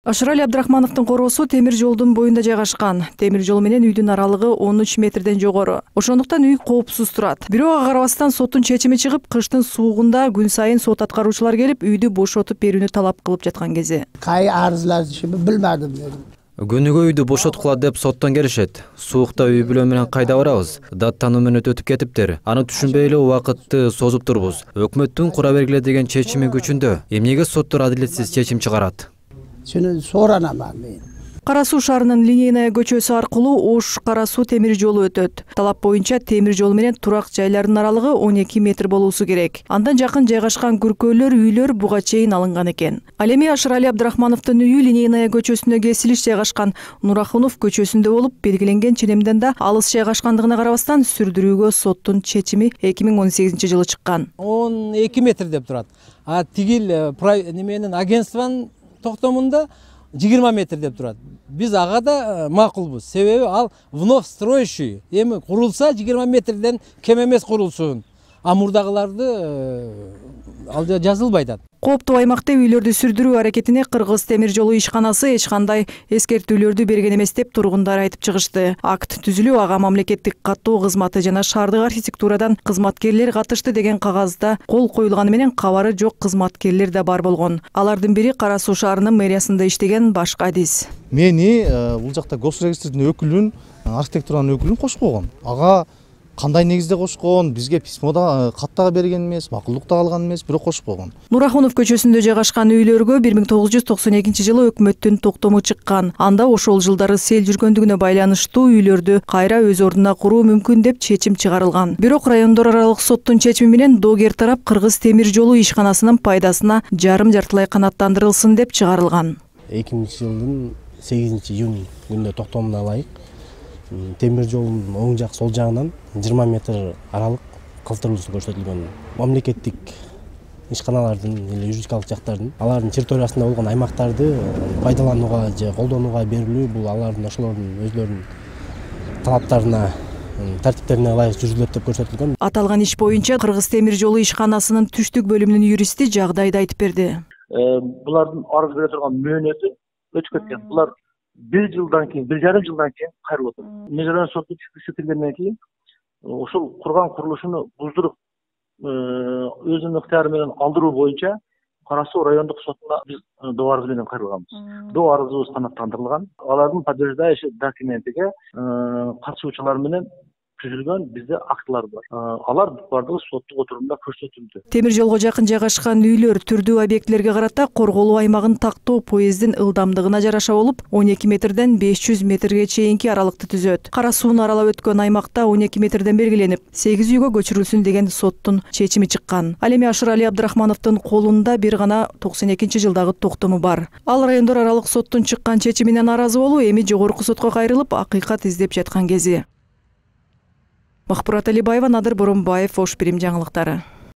Ашырали Абдрахмановдун короосу темир жолдун боюнда жайгашкан. Темир жол менен үйдүн аралыгы 13 метрден жогору. Ошондуктан үй коопсуз турат. Бирок ага карабастан соттун чечими чыгып, кыштын суугунда күн сайын сот аткаруучулар келип, үйдү бошотуп берүүнү талап кылып жаткан кези. Кай арызлар билмедим. Күнүгө үйдү бошоткула деп соттон келишет. Суукта үй бүлө менен кайда барабыз? Даттануу менен өтүп кетиптир. Аны түшүнбөй эле убакытты созуп турбуз. Өкмөттүн кура бергиле деген чечими күчүндө. Эмнеге соттор адилетсиз чечим чыгарат? Сени соранаман мен. Кара Суу шаарынын Линейная көчөсү аркылуу Ош-Кара Суу темир жолу өтөт. Талап боюнча темир жол менен турак жайлардын аралыгы 12 метр болуусу керек. Андан жакын жайгашкан күркөлөр, үйлөр буга чейин алынган экен. Ал эми Ашырали Абдрахмановдун үйү Линейная көчөсүнө кесилиш жайгашкан Нурахунов көчөсүндө болуп, белгиленген ченемден да алыс жайгашкандыгына карабастан сүрдүрүүгө соттун чечими 2018-жылы чыккан. 12 метр деп турат. А тигил неменин агентствонун токтомунда 20 метр деп турат. Биз ага да макулбуз. Себеби ал вновь строящий. Эми курулса 20 метрден кем эмес курулсун. А мурдагыларды ал жазылбайт. Кооптуу аймакта үйлөрдү сүрдүрүү аракетине Кыргыз темир жолу ишканасы эч кандай эскертүүлөрдү берген эмес деп тургундар айтып чыгышты. Акт түзүлүү ага мамлекеттик каттоо кызматы жана шаардык архитектурадан кызматкерлер катышты деген кагазда кол коюлганы менен кабары жок кызматкерлер да бар болгон. Алардын бири Кара Суу шаарынын мэриясында иштеген Башка Адис. Мени бул жакта госрегистрдин өкүлүн, архитектуранын өкүлүн кошуп койгон. Ага кандай негизде кошкон, бизге письмода каттага берген эмес, макулдукта алган эмес, бирок кошуп койгон. Нурахунов көчөсүндө жайгашкан үйлөргө 1992-жылы өкмөттүн токтому чыккан. Анда ошол жылдары сел жүргөндүгүнө байланыштуу үйлөрдү кайра өз ордуна куруу мүмкүн деп чечим чыгарылган. Бирок райондор аралык соттун чечими менен доогер тарап Кыргыз темир жолу ишканасынын пайдасына жарым-жартылай канааттандырылсын деп чыгарылган. 2000-жылдын 8-июнь күнүнө токтомуна ылайык темир жолдун оң жак сол жагынан 20 метр аралык калтырылуусу көрсөтүлгөн. Мамлекеттик ишканалардын или юридикалык жактардын алардын территориясында болгон аймактарды пайдаланууга же колдонууга берилүү бул алардын ошолордун өзлөрүнүн талаптарына, тартиптерине ылайык жүргүзүлөт деп көрсөтүлгөн. Аталган иш боюнча Кыргыз темир жолу ишканасынын түштүк бөлүмүнүн юристи жагдайды айтып берди. Булардын арыз бере турган мөөнөтү өтүп кеткен. Булар 1 жылдан кийин, 1,5 жылдан кийин кайрылып отур. Межрайон соту чыккысы келгенден кийин ошол курган курулушуну буздуруп өзүнүн ыктыяры менен алдыруу боюнча Кара Суу райондук сотуна биз доо арыз менен кайрылганбыз. Доо арызыбыз канааттандырылган. Алардын подтверждающий документиге катышуучулар менен түзүлгөн бизде актылар бар. Алар бардыгы соттук отурумда көрсөтүлдү. Темир жолго жакын жайгашкан үйлөр түрдүү объектилерге карата корголуу аймагын тактоо поезддин ылдамдыгына жараша болуп 12 метрден 500 метрге чейинки аралыкты түзөт. Кара Сууну аралап өткөн аймакта 12 метрден белгиленип, 8 үйгө көчүрүлсүн деген соттун чечими чыккан. Ал эми Ашырали Абдрахмановдун колунда бир гана 92-жылдагы токтому бар. Ал райондор аралык соттун чыккан чечимине нааразы болуп, эми жогорку сотко кайрылып, акыйкат издеп жаткан кези. Махпурат Алибаева, Надыр Боронбаев, Ош Бирим жаңылыктары.